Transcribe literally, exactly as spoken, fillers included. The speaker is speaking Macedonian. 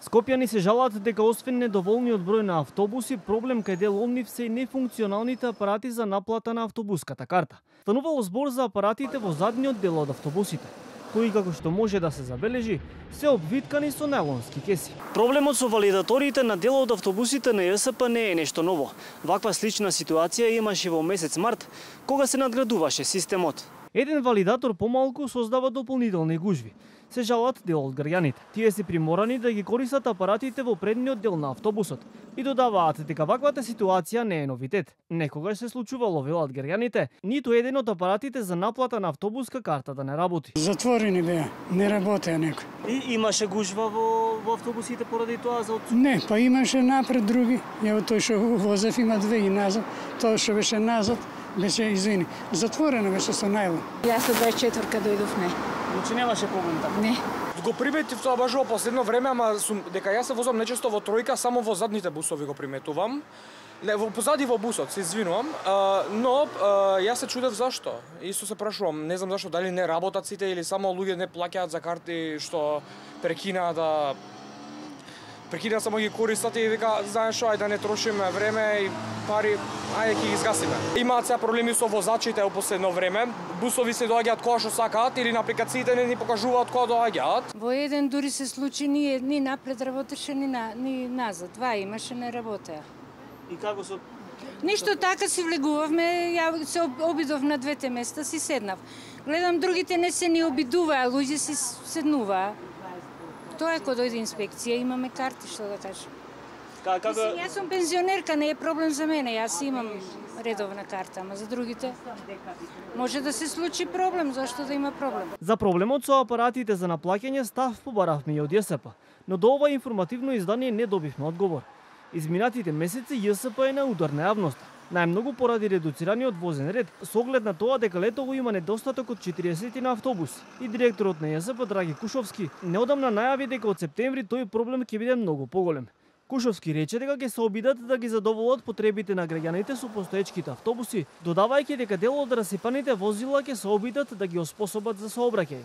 Скопјани се жалат дека освен недоволниот број на автобуси, проблем кај дел од нив се и нефункционалните апарати за наплата на автобуската карта. Станувало збор за апаратите во задниот дел од автобусите, кои, како што може да се забележи, се обвиткани со најлонски кеси. Проблемот со валидаторите на дел од автобусите на Ј С П не е нешто ново. Ваква слична ситуација имаше во месец март, кога се надградуваше системот. Еден валидатор помалку создава дополнителни гужви. Се жалат дел од граѓаните. Тие се приморани да ги користат апаратите во предниот дел на автобусот и додаваат дека ваквата ситуација не е новитет. Некогаш се случувало, велат граѓаните, ниту еден од апаратите за наплата на автобуска карта да не работи. Затворени беа, не работеа некој. И имаше гужва во, во автобусите поради тоа за отсутство? Не, па имаше напред други. Ево тој што возев има две и назад, тоа што беше назад беше, извини, затворено беше со најлон. Јас од дваесет и четвртка дојдов, не. Значи немаше проблем така? Не. Го приметив тоа баш во последно време, ама сум, дека јас се возам нечесто во тројка, само во задните бусови го приметувам. Не, во позади во бусот, се извинувам, а, но а, јас се чудев зашто. Исто се прашувам, не знам зашто, дали не работат сите или само луѓе не плаќаат за карти што прекинаа да прекинаа само ги користат и вика, знаеш што, ајде да не трошиме време и пари, ајде ќе ги згасиме. Имаат сега проблеми со возачите во последно време. Бусови се доаѓаат кога што сакаат или на апликациите не ни покажуваат кога доаѓаат. Во еден дури се случи ни, ни напред работеше, ни, на, ни назад. Два имаше, не работеа. И како со... Ништо така си влегувавме, ја се обидов на двете места, си седнав. Гледам, другите не се ни обидуваа, луѓе си седнуваа. Тоа е кога дојде инспекција, имаме карти, што да кажам. Како... Мислим, јас сум пензионерка, не е проблем за мене, јас имам редовна карта, ама за другите може да се случи проблем, зашто да има проблем. За проблемот со апаратите за наплаќање став побаравме и од Ј С П, но до ова информативно издание не добивме одговор. Изминатите месеци Ј С П е на удар на јавноста, најмногу поради редуцираниот возен ред, со оглед на тоа дека летово има недостаток од четириесет на автобуси. И директорот на Ј С П Драги Кушовски неодамна најави дека од септември тој проблем ќе биде многу поголем. Кушовски рече дека ќе се обидат да ги задоволат потребите на граѓаните со постоечките автобуси, додавајќи дека дел од расипаните возила ќе се обидат да ги оспособат за сообраќај.